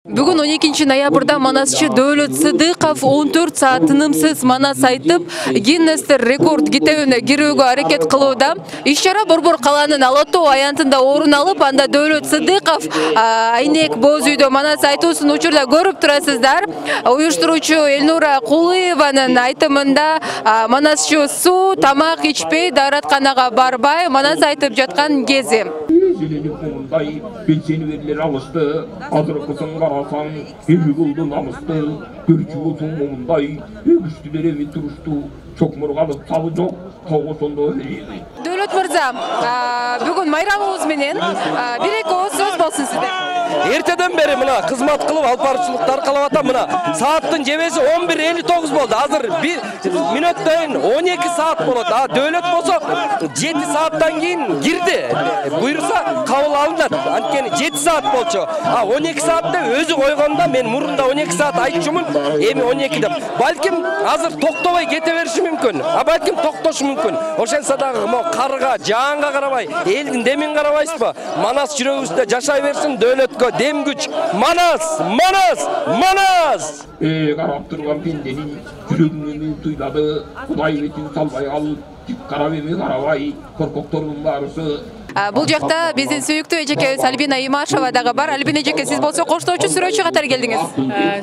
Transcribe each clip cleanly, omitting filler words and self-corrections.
Бүгүн 12-ноябрда манасчы Дөөлөт Сыдыков 14 саат тынымсыз манас айтып, Гиннестер рекорд китебине кирүүгө аракет кылууда. Иш-чара Борбор калаанын Алатоо аянтында орун алып, анда Дөөлөт Сыдыков айнек боз үйдө манас айтуусун учурда көрүп турасыздар. Уюштуруучу Элнура Кулуеванын айтымында манасчы суу, тамак ичпей, дааратканага барбай манас айтып жаткан кези. Мындай белсени берилер алышты, азыркысын карасаң, эми кылды намысты, көрчү болсоң момундай, күчтүлөр эми турушту, чокмурганып табы жок, тогосондо элейди. Дөөлөт мырза, бүгүн майрамыбыз менен бир-эки ооз сөз болсун сизде. Эртеден бери мына кызмат кылып алып баруучулуктар кылып атам. Мына сааттын жебеси 11:59 болду. Азыр 1 мүнөттөн 12 саат болот. Дөөлөт болсо 7 сааттан кийин кирди. Буйрса кабыл алынат. Анткени 7 саат болчу. 12 саатта өзү койгондо мен мурунда 12 саат айтчумун, эми 12 деп. Балким азыр токтобой кете бериши мүмкүн. Балким токтошу мүмкүн. Ошентсе дагы мо карга, жаанга карабай, элдин демин карабайсызбы? Манас жүрөгүбүздө жашай берсин, дөөлөткө дем күч. Манас, манас, манас! Карап турган пенденин жүрөгүнө туйлады, Кудай бетин салбай ал, тик карап эми карабай, коркоктордун баарысы. Бул жакта биздин сүйүктүү эжекебиз Альбина Имашева дагы бар. Альбина эжеке, сиз болсо коштоочу сүрөөчү катары келдиңиз.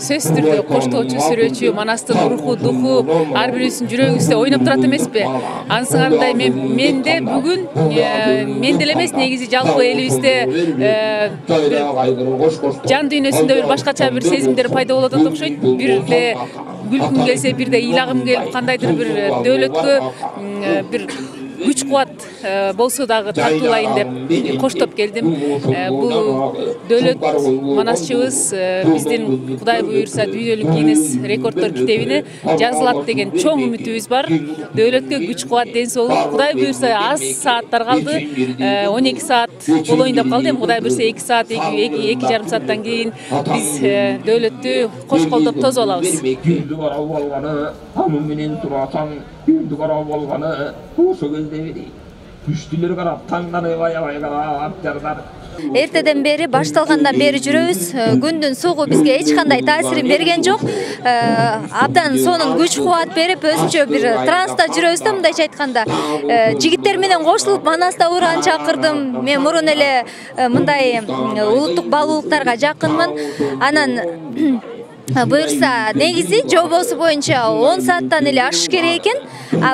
Сөзсүз түрдө коштоочу сүрөөчү, манастын руху, духу ар бирибиздин жүрөгүбүздө ойноп турат эмеспи? Ансыгандай мен де бүгүн мен деле эмес, негизи жалпы элибизде жан дүйнөсүндө бир башкача бир сезимдер пайда болот окшойт. Бирде күлкүм келсе, бирде ыйлагым келип, кандайдыр бир дөөлөткө бир күч кубат болсо дагы тартуулайын деп коштоп келдим. Бул дөөлөт манасчыбыз биздин Кудай буйрса дүйнөлүк Гиннес рекорддор китебине жазылат деген чоң үмүтүбүз бар. Дөөлөткө күч кубат, ден соолук. Кудай буйрса аз сааттар калды. 12 саат болоюн деп калды. Эми Кудай буйрса 2 саат, 2,5 сааттан кийин биз дөөлөттү кош колдоп тосуп алабыз. Күндү карап алганы, анын менен турасаң, күндү карап алганы, ошо кезде күчтүлөр карап, таңданып аябай карап жардар. Эртеден бери башталгандан бери жүрөбүз. Күндүн сугу бизге эч кандай таасирин берген жок. Абдан сонун күч кубат берип, өзүнчө бир транста жүрөбүз да, мындайча айтканда. Жигиттер менен кошулуп манаста уран чакырдым. Мен мурун эле мындай улуттук баалуулуктарга жакынмын. Анан буйрса негизи жобосу боюнча 10 сааттан эле ашыш керек экен.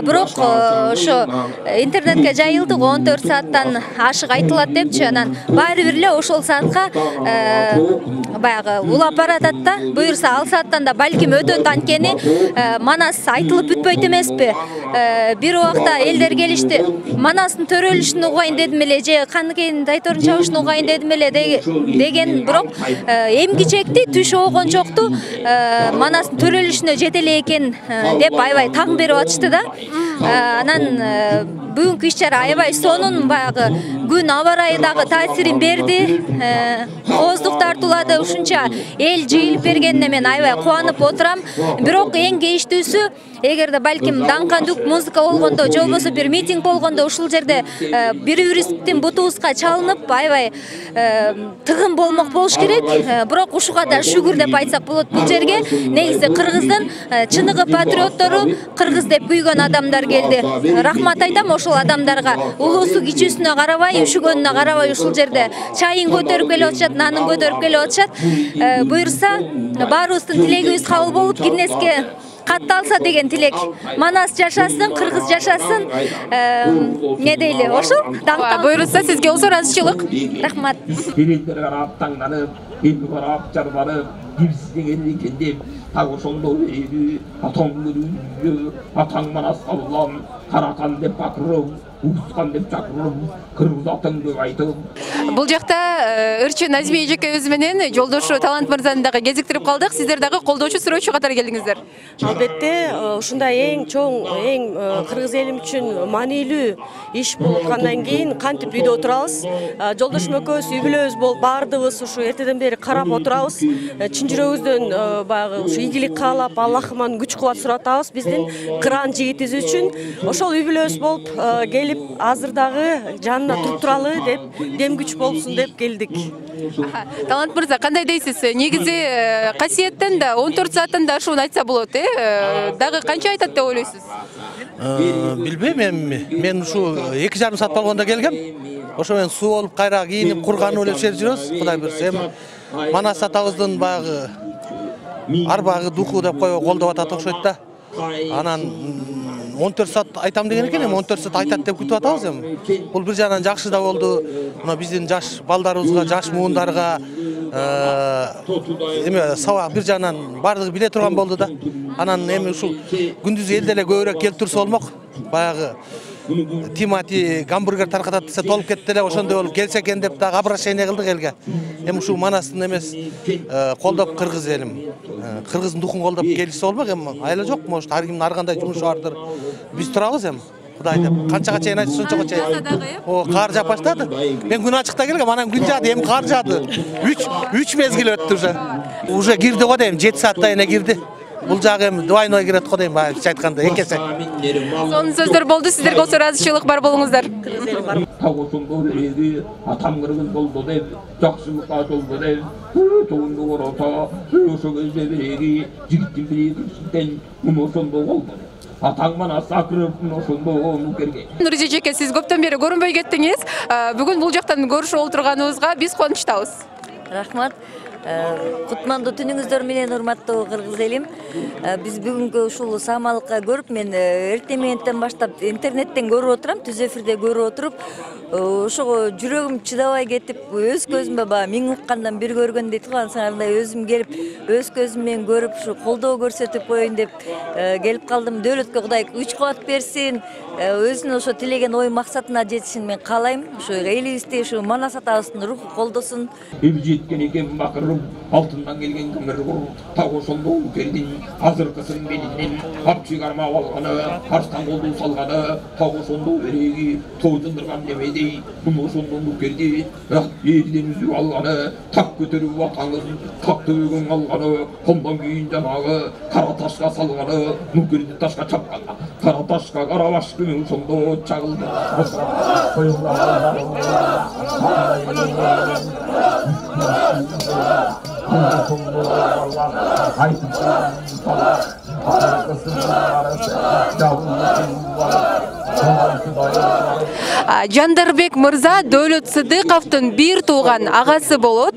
Бирок ошо интернетке жайылды, 14 сааттан ашык айтылат депчи. Анан баары бир эле ошол саатка баягы улап баратат да. Буйрса ал сааттан да балким өтөт, анткени манас айтылып бүтпөйт эмеспи? Бир убакта элдер келишти. Манастын төрөлүшүн угайын дедим эле, же Каныкенин тайторун чабышын угайын дедим эле деген, бирок эмки чекти түш огончокту манастын төрөлүшүнө жете эле экен деп аябай таң берип атышты да. Анан бүгүнкү иш-чара аябай сонун, баягы күн аба ырайы дагы таасирин берди. Ооздук тартуулады, ушунча эл жыйылып бергенине мен аябай кубанып отурам. Бирок эң кейиштүүсү, эгерде балким даңкандык музыка болгондо, же болбосо бир митинг болгондо ушул жерде бири-бирибиздин бутубузга чалынып, аябай тыгын болмок болуш керек. Бирок ушуга да шүгүр деп айтсак болот. Бул жерге негизи Кыргыздын чыныгы патриоттору, кыргыз деп күйгөн адамдар келди. Рахмат айтам ошол адамдарга. Улуусу кичүүсүнө карабай, үшүгөнүнө карабай ушул жерде чайын көтөрүп келип атышат, нанын көтөрүп келип атышат. Буйрса баарыбыздын тилегибиз кабыл болуп, Гиннеске катталса деген тилек. Манас жашасын, кыргыз жашасын. Не дейли, ошол? Буйрса сизге узур азчылык. Рахмат. Элдер карап таңданып, эл карап жарбарып, бирсизден экен деп, так ошондо элүү, атаң көрүнү, атаң манас аллам, каракан деп бакырып, уускан деп чакырып, кыргыз атың деп айтып. Бул жакта ырчы Назиме эжекебиз менен жолдошу Талант мырзаны дагы кезиктирип калдык. Сиздер дагы колдоочу, сүрөөчү катары келдиңиздер. Албетте, ушундай эң чоң, эң кыргыз элим үчүн маанилүү иш болуп аткандан кийин кантип үйдө отурабыз. Жолдошум экөөбүз үй бүлөбүз болуп, баардыгыбыз ушу эртеден бери карап отурабыз. Чын жүрөгүбүздөн баягы ушу ийгилик каалап, Аллахыман күч кубат сурап атабыз биздин кыран жигитибиз үчүн. Ошо ошол үй бүлөбүз болуп келип азыр дагы жанына туруп туралы деп, дем күч болсун деп келдик. Талант мырза, кандай дейсиз? Негизи касиеттен да 14 сааттан да ашууну айтса болот, дагы канча айтат деп ойлойсуз? Билбейм эми. Мен ушу 2,5 саат болгондо келгем. Ошо мен суу болуп кайра кийинип курганып эле жүрөбүз. Кудай буйрса эми Манас атабыздын баягы арбагы духу деп коюп колдоп атат окшойт да. Анан 14 саат айтам деген экен, эми 14 саат айтат деп күтүп атабыз эми. Бул бир жагынан жакшы да болду. Мына биздин жаш балдарыбызга, жаш муундарга эми сабак бир жагынан бардыгы биле турган болду да. Анан эми ушул күндүз элде эле көбүрөөк келип турса болмок. Баягы Тимати гамбургер таркатат десе толуп кетти эле, ошондой болуп келсе экен деп дагы обращение кылдык элге. Эми ушул Манастын эмес колдоп кыргыз элим, кыргыздын духун колдоп келишсе болмок эми. Айла жок, может ар кимдин ар кандай жумушу бардыр. Биз турабыз эми. Кудай деп. Канчага чейин айтса сончого чейин. О, кар жаап баштады. Мен күн ачыкта келгем, анан күн жаады, эми кар жаады. 3 мезгил өттү уже. Уже кирди го дейм, 7 саатта эне кирди. Бул жагы эми двойной кирет го дейм, баягы айтканда, эки эсе. Сонун сөздөр болду, сиздерге болсо ыраазычылык бар болуңуздар. Тагошондо эди атам кыргыз болду деп, жакшылыкка жолду деп, тоонду корото, ошо кезде биреги жигиттин бири кырсыктен ошондо болду. Атаң Манас акырып ошондо нукерге. Нуриза жеке, сиз көптөн бери көрүнбөй кеттиңиз. Бүгүн бул жактан көрүшүп отурганыбызга биз кубанычтабыз. Рахмат. Кутмандуу түнүңүздөр менен урматтуу кыргыз элим. Биз бүгүнкү ушул саамалыкка көрүп, мен эртең мененден баштап интернеттен көрүп отурам, түз эфирде көрүп отуруп, ошого жүрөгүм чыдабай кетип, өз көзүмө баягы миң уккандан бир көргөн дейт го, ансандай өзүм келип, өз көзүм менен көрүп, ушу колдоо көрсөтүп коеюн деп келип калдым. Дөөлөткө Кудай күч кубат берсин, өзүнүн ошо тилеген ой максатына жетишин мен каалайм. Ушу элибизди ушу Манас атабыздын руху колдосун. Эми жеткен экен бакырым, алтындан келген кымыр так ошондо кердин азыркысын менен апчы кармап алганы, арстан колду салганы, так ошондо береги тойтундурган демеди. Муну ошондо керди, элден үзүп алганы, так көтөрүп атаңыз, так төбөгөн алганы, ондан кийин жанагы кара ташка салганы, нукерди ташка чапканы, кара ташка кара баш күнү ошондо чагылды. Жандарбек мырза Дөөлөт Сыдыковдун бир тууган агасы болот.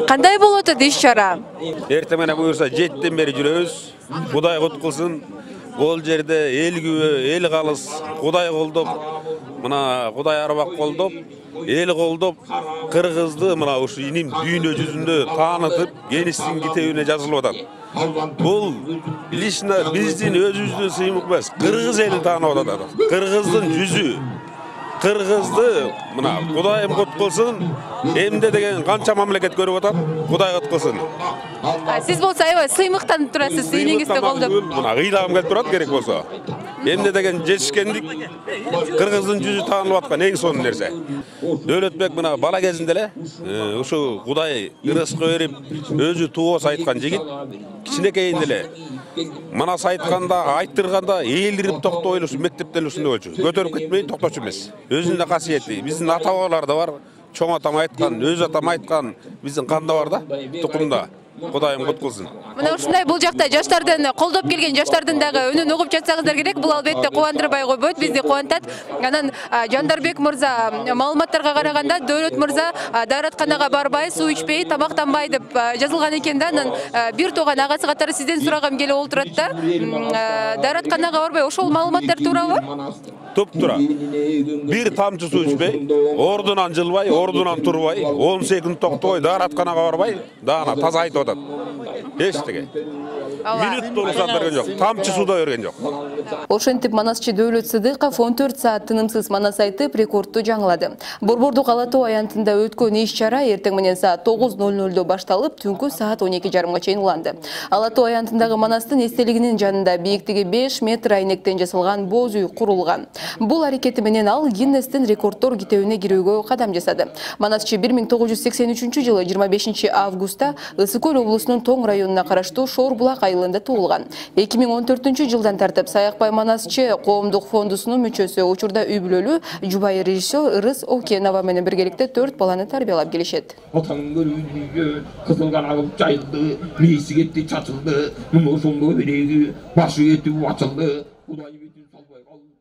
Кандай болот иш чара? Эртең менен буюрса 7ден бери жүрөбүз. Кудай куткулсун. Бул жерде эл күбө, эл калыс, Кудай колдоп, мына Кудай арбак колдоп, эл колдоп, кыргызды мына ушу иним дүйнө жүзүндө таанытып, Генистин китебине жазылып атат. Бул лично биздин өзүбүздүн сыймык эмес, кыргыз элин таанып атат. Кыргыздын жүзү, кыргызды мына Кудайым куткулсун. Эмде деген канча мамлекет көрүп атат, Кудай куткулсун. Сиз болсо аябай сыймыктанып турасыз, ийниңизди колдоп. Мына кыйлагым келип турат керек болсо. Эмде деген жетишкендик, кыргыздын жүзү таанылып аткан эң сонун нерсе. Дөөлөтбек мына бала кезинде эле ушу Кудай ырыска берип, өзү туос айткан жигит, кичинекейинде эле Манас айтканда, айттырганда ээлирип токтой эле ушу мектепте эле ушундай болчу. Көтөрүп кетпей токточу эмес. Өзүнүн касиети, биздин ата-бабаларда бар. Чоң атам айткан, өз атам айткан, биздин канда бар да, тукумда. Кудайым куткулсун. Мына ушундай бул жакта жаштардын колдоп келген жаштардын дагы үнүн угуп жатсаңыздар керек. Бул албетте кубандырбай койбойт, бизди кубантат. Анан Жандарбек мырза маалыматтарга караганда Дөөлөт мырза дааратканага барбай, суу ичпей, тамактанбай деп жазылган экен да. Анан бир тууган агасы катары сизден сурагым келип олтурат да. Дааратканага барбай, ошол маалыматтар туурабы? Туп-тура. Бир тамчы суу ичпей, ордунан жылбай, ордунан турбай, 10 секунд токтобой, дааратканага барбай, даана таза айтып атат. Эчтеге. Минут болсо берген жок, тамчы сууда берген жок. Ошентип Манасчы Дөөлөт Сыдыков 14 саат тынымсыз Манас айтып рекордду жаңылады. Борбордук Ала Тоо аянтында өткөн иш чара эртең менен саат 9:00 башталып, түнкү саат 12:30 чейин уланды. Ала Тоо аянтындагы Манастын эстелигинин жанында бииктиги 5 метр айнектен жасалган боз үй курулган. Бул аракети менен ал Гиннестин рекорддор китебине кирүүгө кадам жасады. Манасчы 1983 жылы 25 августта Ысык көл Ысык-көл облусунун Тоң районуна караштуу Шор-Булак айылында туулган. 2014-жылдан тартып Саякбай Манасчы коомдук фондусунун мүчөсү, учурда үй бүлөлүү жубайы режиссер Ырыс Окенова менен биргеликте 4 баланы тарбиялап келишет. Кызыл канагып жайылды, мейси кетти чачылды, мына ошондо береги башы кетип ачылды. Кудай бетин салбай калды.